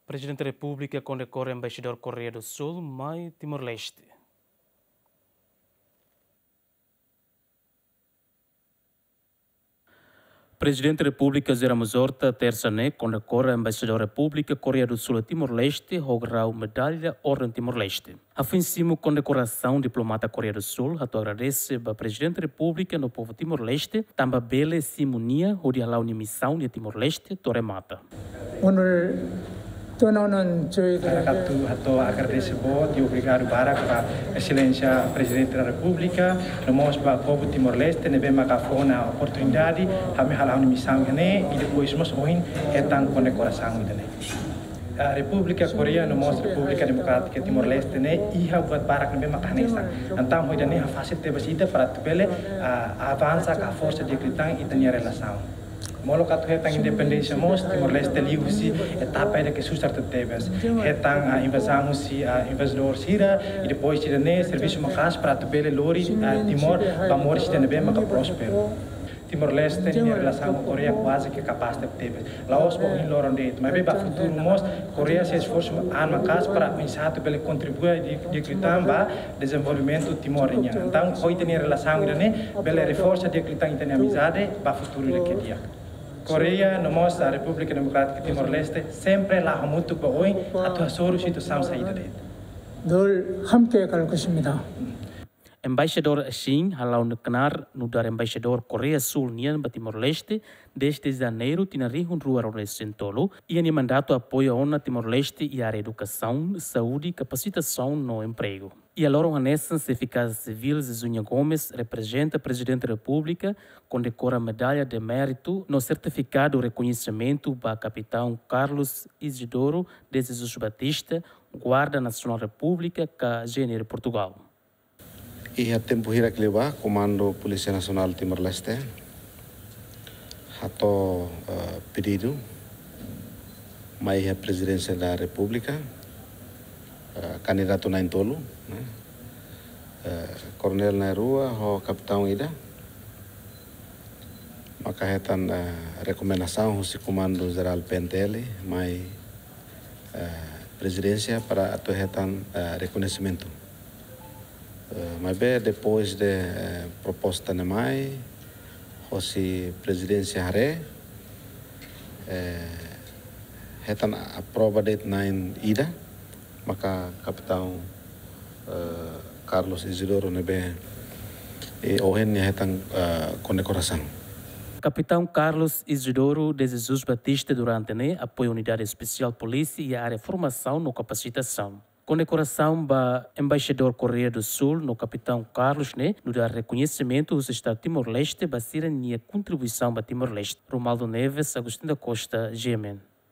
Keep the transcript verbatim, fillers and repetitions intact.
Prezidente Repúblika kondekora Embaixadór Koreia do Súl mai Timor-Leste. Prezidente Repúblika José Ramos Horta, tersa ne'e, kondekora Embaixadór Repúblika Koreia do Súl iha Timor-Leste ho grau Medalla Orden Timor-Leste. Hafoin simu kondekorasaun, diplomata Koreia do Súl hato'o agradese ba Prezidente Repúblika no povu Timor-Leste, tanba bele simu nia hodi hala'o nia misaun iha Timor-Leste to'o remata. 오늘 떠나는 저희들에게 Ha'u hato'o agradese boot i obrigadu barak ba Exelénsia Prezidente da Repúblika, no mós ba povu Timor-Leste ne'ebé maka fó ona oportunidade ami hala'o nia misaun ida-ne'e, i depois mós ohin hetan kondekorasaun ida-ne'e. Ah, Repúblika Koreia no mós Repúblika Demokrátika Timor-Leste ne'e iha buat barak ne'ebé maka hanesan. Entaun, ho ida-ne'e hafasil tebes ita para atu bele, ah, avansa ka haforsa di'ak liután ita-nia relasaun. Molok atu hetan independénsia mós, Timor-Leste liuhusi etapa ida ke susar tebetebes. Hetan, ah, invazaun husi, ah, invazidór sira, i depois ida-ne'e servisu maka'as para atu bele lori, ah, Timor ba moris ida ne'ebé maka prósperu. Timor-Leste nia relasaun ho Koreia kuaze ke kapás tebetebes. La'ós ba ohin loron de'it, maibé ba futuru mós, Koreia sei esforsu an maka'as para oinsá atu bele kontribui di'ak, di'ak liután ba dezenvolvimentu Timor nian. Entaun, ho ita-nia relasaun ida-ne'e, bele reforsa di'ak liután ita-nia amizade ba futuru ida ke di'ak. Koreia no mós Repúblika Demokrátika Timor-Leste sempre la'o hamutuk ba oin atu hasoru situasaun saida de'it. 늘 함께 갈 것입니다. Embaixadór Shin hala'o knaar nu'udar Embaixadór Koreia Súl nian ba Timor-Leste dezde Janeiru tinan rihun rua ruanulu-resin-tolu, iha nia mandatu apoia ona Timor-Leste iha área edukasaun, saúde, kapasitasaun no empregu. Iha loron hanesan, Xefe Kaza Sivíl Zezuña Gomes reprezenta Prezidente Repúblika, kondekora Medalla de Mérito no sertifikadu rekoñesimentu ba Kapitaun Carlos Isidoro de Jesus Batista, Guarda Nasionál Repúblika ka GNR Portugál. Iha tempu hirak liubá, Komandu Polísia Nasionál Timor-Leste hato'o, eh, pedidu mai iha Prezidénsia da Repúblika, eh, kandidatu na'in-tolu, ne'e? Eh, koronél na'in-rua ho kapitaun ida, maka hetan, eh, rekomendasaun husi Komandu Jerál PNTL mai, eh, Prezidénsia para atu hetan, eh, rekoñesimentu. Eh, maibé depois de, eh, proposta ne'e mai hosi Prezidénsia haree, eh, hetan aprova de'it na'in ida, maka Kapitaun, eh, Carlos Isidoro ne'ebé, eh, ohin nia hetan, eh, kondekorasaun. Kapitaun Carlos Isidoro de Jesus Batista durante ne'e apoia Unidade Espesiál Polísia iha área formasaun no kapasitasaun. Kondekorasaun ba Embaixadór Koreia do Súl no Kapitaun Carlos ne'e nu'udar rekoñesimentu husi Estadu Timor-Leste ba sira-nia kontribuisaun ba Timor-Leste. Romualdo Neves, Agostinho da Costa, GMN.